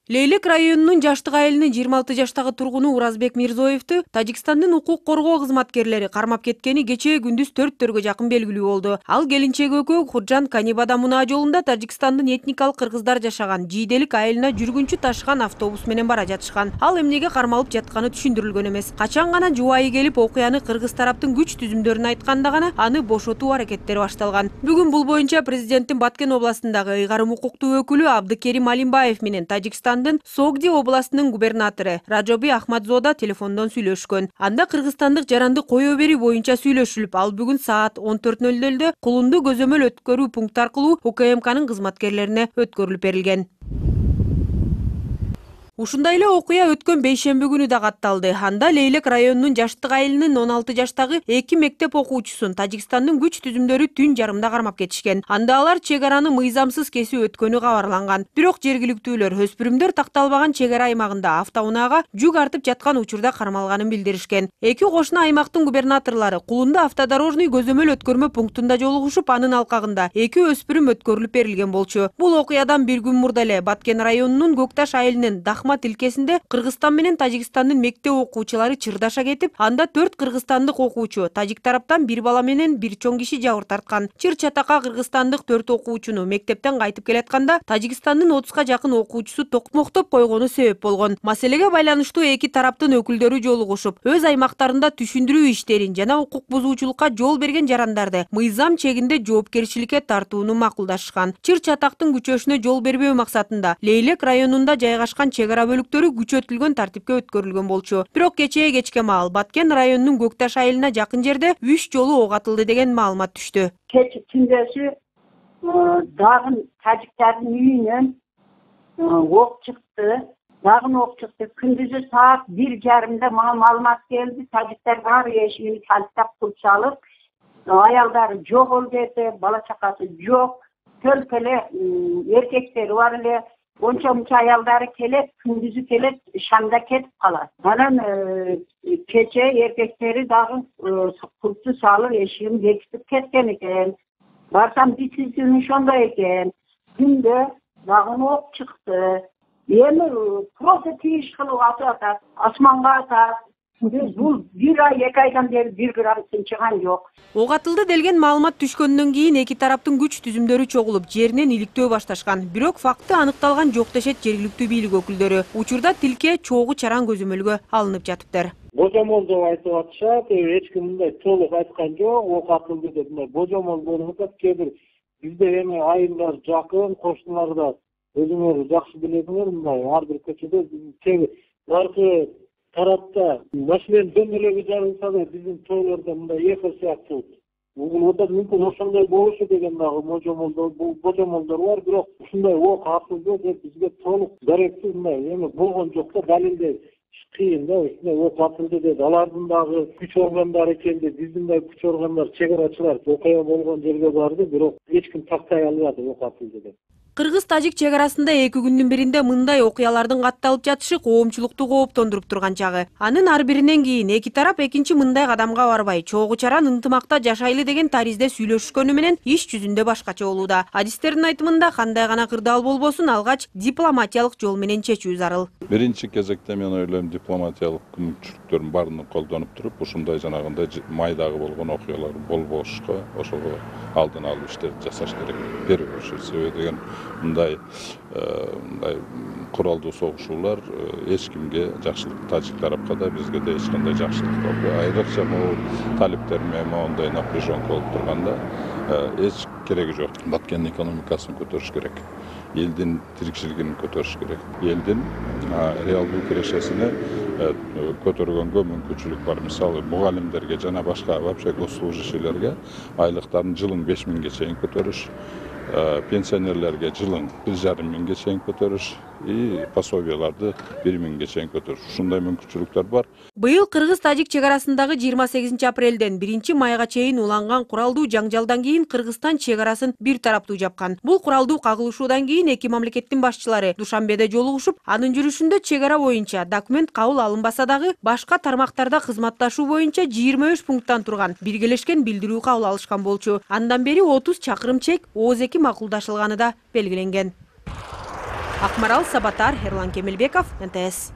Лейлек районунун Жаштык айылынын 26 жаштагы тургуну Уразбек Мирзоевду Тажикстандын укук коргоо кызматкерлери кармап кеткени кечээ күндүз 4-төргө жакын белгилүү болду. Ал келинчеги экөө Худжан Канибада мунаа жолунда Тажикстандын этникалык кыргыздар жашаган Жийделик айылына жүргүнчү ташыган автобус менен бара жатышкан. Ал эмнеге кармалып жатканы түшүндүрүлгөн эмес. Качан гана жубайы келип окуяны кыргыз тараптын күч түзүмдөрүн айтканда гана аны бошотуу аракеттери башталган. Бүгүн бул боюнча президенттин Баткен областындагы ыйгарым укуктуу өкүлү Абдыкерим Алимбаев менен Тажикстандын Согди областынын губернатору Раджоби Ахмадзода телефондон сүйлөшкөн. Анда кыргызстандык жаранды кое берүү боюнча сүйлөшүлүп, ал бүгүн саат 14:00 Кулунду көзөмөл өткөрүү пункт аркылуу УКМКнын кызматкерлерине өткөрүлүп берилген. Ушундай эле окуя өткөн бейшемби күнү да катталды. Анда Лейлек районунун Жаштык айылынын 16 жаштагы 2 мектеп окуучусун Тажикстандын күч түзүмдөрү түн жарымда кармап кетишкен. Анда алар чек араны мыйзамсыз кесип өткөнү кабарланган. Бирок жергиликтүүлөр өспүрүмдөр такталбаган чек ара аймагында автоунаага жүк артып жаткан учурда кармалганын билдиришкен. Эки кошуна аймактын губернаторлору Кулунду автодорожный көзөмөл өткөрмө пунктунда жолугушуп, анын алкагында 2 өспүрүм өткөрүлүп берилген болчу. Бул окуядан бир күн мурда эле Баткен районунун Көкташ айылынын Дахма тилкесинде Кыргызстан менен Тажикстандын мектеп окуучулары чырдаша кетип, анда 4 кыргызстандык окуучу, тажик тараптан бир бала менен бир чоң киши жабыр тарткан. Чыр чатакка кыргызстандык 4 окуучуну мектептен кайтып келатканда Тажикстандын 30га жакын окуучусу токмоктоп койгону себеп болгон. Маселеге байланыштуу эки тараптын өкүлдөрү жолугушуп, өз аймактарында түшүндүрүү иштерин жана укук бузуучулукка жол берген жарандарды мыйзам чегинде жоопкерчиликке тартууну макулдашкан. Чыр чатактын күчөшүнө жол бербөө максатында Лейлек районунда жайгашкан чек ара бөлүктөрү күчөтүлгөн тартипке өткөрүлгөн болчу. Бирок кечээ кечке маал Баткен районунун Көкташ айылына жакын жерде 3 жолу ок атылды деген маалымат түштү. Кеч түндөсү дагы тажиктардын үйүнөн ок чыкты. Дагы ок чыкты. Күндүзү саат 1:30 мага маалымат келди. Тажиктар баары эшигин калттап кылып салып, аялдары жок эле, бала чакасы жок. Төлкө эле эркектери бар эле. Онча аялдары келет, күндүзү келет, шамда кетип калат. Анан кече эркектери дагы курту салып эшигин бекитип кеткен экен. Барсам битсиздин ошондой экен. Түндө дагы ок чыкты. Эми просто тийиш кылып атып атат, асманга атат. Бул 1 ай, 2 айдан бери 1 грамм тынчыган жок. Ок атылды делген маалымат түшкөндөн кийин эки тараптын күч түзүмдөрү чогулуп, жеринен иликтөө башташкан. Бирок факты аныкталган жок дешет жергиликтүү бийлик өкүлдөрү. Учурда тилке чогуу чаран көзөмөлгө алынып жатыптыр. Божомол деп айтып атышат, эч ким мындай толук айткан жок, ок атылды деп мындай божомол болуп атат. Кээ бир бизде эми айылдар жакын, кошуналарда өзүңөр жакшы билесиңер, мындай ар бир көчөдө аркы тарапта машина дөмөлөгү жарылса да биздин тоолордо мындай эхо сыяктуу угулууда мүмкүн ошондой болушу деген дагы божомолдор бар. Бирок ушундай ок атылды деп бизге толук даректүү мындай эми болгон жок да, далилдей кыйын да. Ушундай ок атылды деп алардын дагы күч органдары келди, биздин дагы күч органдар, чек арачылар окуя болгон жерге барды, бирок эч ким тактай албады ок атылды деп. Кыргыз-тажик чек арасында 2 күндүн биринде мындай окуялардын катталып жатышы коомчулукту кооптондуруп турган чагы. Анын ар биринен кийин эки тарап экинчи мындай кадамга барбай, чогуу чаран ынтымакта жашайлы деген таризде сүйлөшүшкөнү менен иш жүзүндө башкача болууда. Адистердин айтымында кандай гана кырдаал болбосун, алгач дипломатиялык жол менен чечүү зарыл. Биринчи кезекте мен ойлойм дипломатиялык мүмкүнчүлүктөрдүн баарын колдонуп туруп, ушундай жанагындай майдагы болгон окуялар болбошко ошого алдын алуу иштерди жасаш керек. Первый очередь себеби деген мындай куралдуу согушуулар эч кимге жакшылык, тажик тарапка да бизге да эч кандай жакшылык болбойт. Айрыкча могу талиптер менен моундай напряженка болуп турганда эч кереги жок. Баткендин экономикасын көтөрүш керек. Элдин тирикчилигин көтөрүш керек. Элдин реалдуу кирешесине көтөргөнгө мүмкүнчүлүк бар. Мисалы мугалимдерге жана башка вообще госслужащийлерге айлыктарын жылың 5 миңге чейин көтөрүш, пенсионерлерге жылың 1,5 миңге чейин көтөрүш, пособияларды 1 миңге чейин көтөрүш. Ушундай мүмкүнчүлүктөр бар. Быйыл Кыргыз-Тажик чек арасындагы 28 апрелден 1 майга чейин уланган куралдуу жаңжалдан кийин Кыргызстан чек арасын бир тараптуу жапкан. Бул куралдуу кагылышуудан кийин эки мамлекеттин башчылары Душанбеде жолугушуп, анын жүрүшүндө чек ара боюнча документ кабыл алынбаса дагы башка тармактарда кызматташуу боюнча 23 пункттан турган биргелешкен билдирүү кабыл алышкан болчу. Андан бери 30 чакырым чек ооз эки макулдашылганы да белгиленген. Акмарал Сабатар, Эрлан Кемелбеков, НТС.